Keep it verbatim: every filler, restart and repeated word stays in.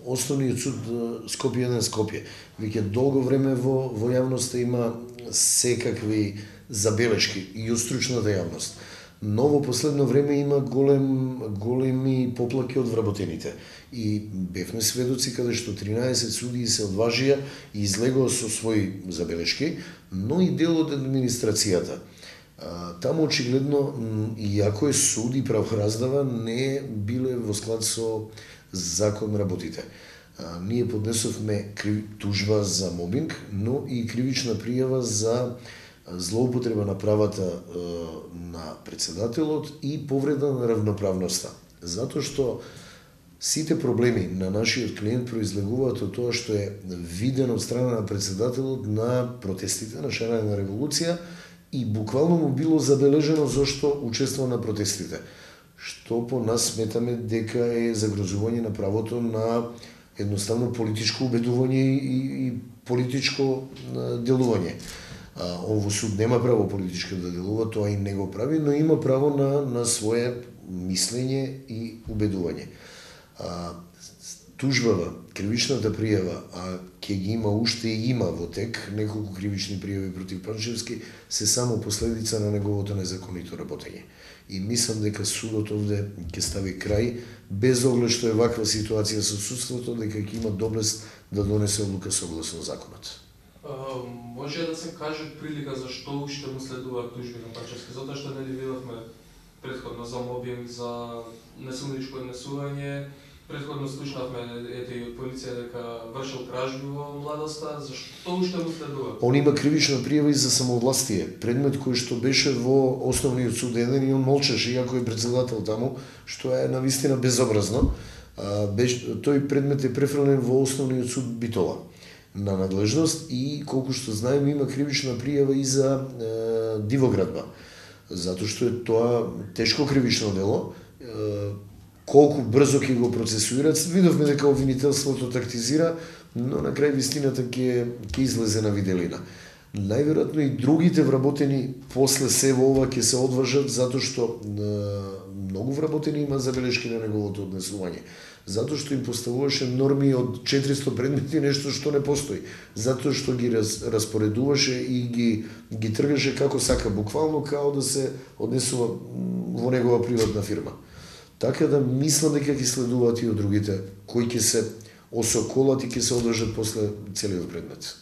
Основниот суд Скопје еден Скопје. Веќе долго време во во јавноста има секакви забелешки и од стручната јавност. Но во последно време има голем големи поплаки од вработените. И бевме сведоци каде што тринаесет судии се одважија и излегоа со своји забелешки, но и дел од администрацијата. Таму очигледно, иако е суд и правораздава, не биле во склад со закон работите. Ние поднесовме тужба за мобинг, но и кривична пријава за злоупотреба на правата на председателот и повреда на равноправноста. Затоа што сите проблеми на нашиот клиент произлегуваат од тоа што е виден од страна на председателот на протестите, на шарена револуција, и буквално му било забележено зашто учествува на протестите. Што по нас сметаме дека е загрозување на правото на едноставно политичко убедување и, и политичко делување. Он во суд нема право политичко да делува, тоа и не го прави, но има право на, на свое мислење и убедување. А, тужбава, кривичната пријава, а ќе ги има уште и има во тек неколку кривични пријави против Панчевски, се само последица на неговото незаконито работење. И мислам дека судот овде ќе стави крај, без оглед што е ваква ситуација со судството, дека ќе има доблест да донесе одлука согласно законот. Uh, може да се каже прилика зашто уште му следуваат тужби на Панчевски, затоа што нели видовме претходно за мобинг, за насилничко однесување, претходно слушнавме ете и од полиција дека вршил кражби во младоста, зашто уште му следуваат? Он има кривична пријава и за самовластие, предмет кој што беше во Основниот суд еден и он молчеше, иако е председател таму, што е навистина безобразно. А, беше, тој предмет е префрлен во Основниот суд Битола на надлежност и колку што знаем има кривична пријава и за е, дивоградба, затоа што е тоа тешко кривично дело. Е, колку брзо ќе го процесуират, видовме дека обвинителството тактизира, но на крај вистината ќе ќе излезе на виделина. Најверојатно и другите вработени после се во ова ќе се одважат, затоа што е, многу вработени има забелешки на неговото однесување. Затоа што им поставуваше норми од четиристо предмети, нешто што не постои. Затоа што ги раз, распоредуваше и ги, ги тргаше како сака, буквално као да се однесува во негова приватна фирма. Така да мислам дека ќе следуваат и од другите, кои ќе се осоколат и ќе се одржат после целиот предмет.